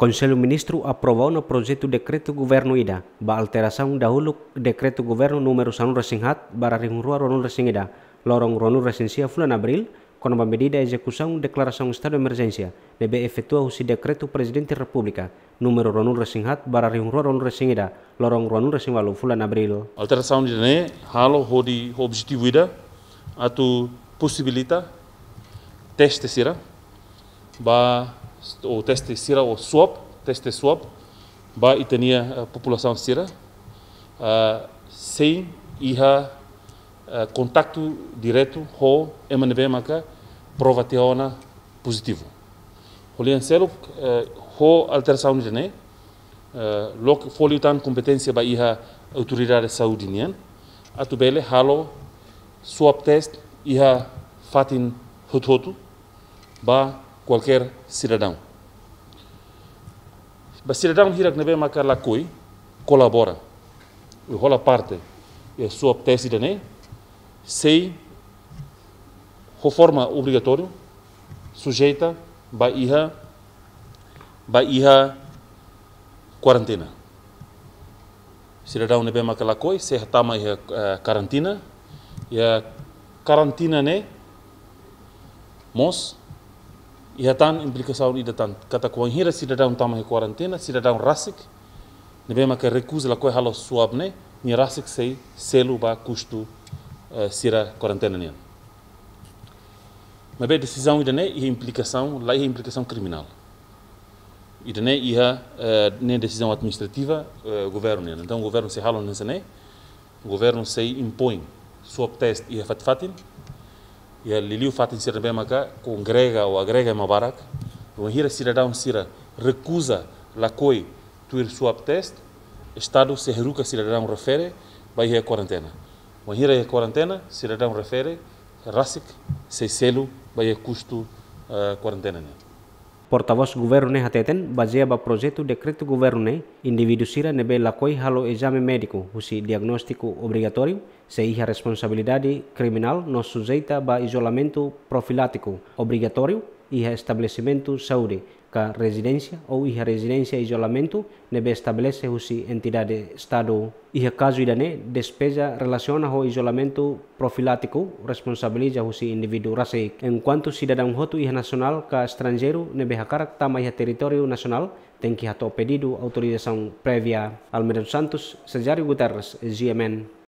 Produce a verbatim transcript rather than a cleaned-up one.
Konsellu Ministru aprova ona projetu dekretu governu ida ba alterasaun dahuluk dekretu governu númeru sanulu-resin-haat barra rihun rua ruanulu-resin-ida, loron ruanulu-resin-sia fulan Abríl, kona-ba medida ezekusaun deklarasaun estadu emerjénsia ne'ebé efetua husi dekretu Prezidente Repúblika númeru ruanulu-resin-haat barra rihun rua ruanulu-resin-ida, loron ruanulu-resin-ualu fulan Abríl. Alterasaun ida-ne'e halo hodi ho objetivu ida atu posibilita teste sira ba, ou teste sira ou swab, teste swab ba ita-nia, eh, populasaun sira, eh, sein iha, eh, kontaktu diretu ho ema ne'ebé maka prova tiha ona pozitivu. Ho lian seluk, eh, ho alterasaun ida-ne'e, eh, loke fó liután kompeténsia ba iha autoridade saúde nian atu bele halo swab test iha fatin hotu-hotu ba kualkér sidadaun. Ba sidadaun hirak ne'ebé maka lakohi kolabora, ou hola parte iha swab test ida-ne'e, sei ho forma obrigatóriu sujeita ba iha, ba iha kuarentina. Sidadaun ne'ebé maka lakohi sei hatama iha, eh, kuarentina, iha kuarentina ne'e mós iha tan implikasaun ida tan, katak wainhira sidadaun tama iha kuarentina, sidadaun rasik ne'ebé maka rekuza lakohi halo swab ne'e, nia rasik sei selu ba kustu, eh, sira kuarentina nian. Maibé desizaun ida-ne'e iha implikasaun, la iha implikasaun kriminál. Ida-ne'e iha, eh, ne'e desizaun administrativa, eh, governu nian. Entaun governu sei halo hanesan ne'e, governu sei impoin swab test iha fatin-fatin, iha liuliu fatin sira ne'ebé maka kongrega ou agrega ema barak. Wainhira sidadaun sira rekuza lakohi tuir swab test, estadu sei haruka sidadaun refere ba iha kuarentina. Wainhira iha kuarentina, sidadaun refere rasik sei selu ba iha kustu, eh, kuarentina nian. Portavós governu ne'e hateten, bazeia ba projetu dekretu governu ne'e, indivíduu sira ne'ebé lakohi halo ezame médiku husi diagnóstiku obrigatóriu sei iha responsabilidade kriminál no sujeita ba izolamentu profilátiku obrigatóriu iha estabelesimentu saúde ka rezidénsia ou iha rezidénsia izolamentu ne'ebé estabelese husi entidade estadu. Iha kazu ida-ne'e, despeza relasiona ho izolamentu profilátiku responsabiliza husi indivíduu rasik. Enkuantu sidadaun hotu iha nasionál ka estranjeiru ne'ebé hakarak tama iha territóriu nasionál, tenke hato'o pedidu autorizasaun prévia. Almeida dos Santos, Cesário Guterres, G M N.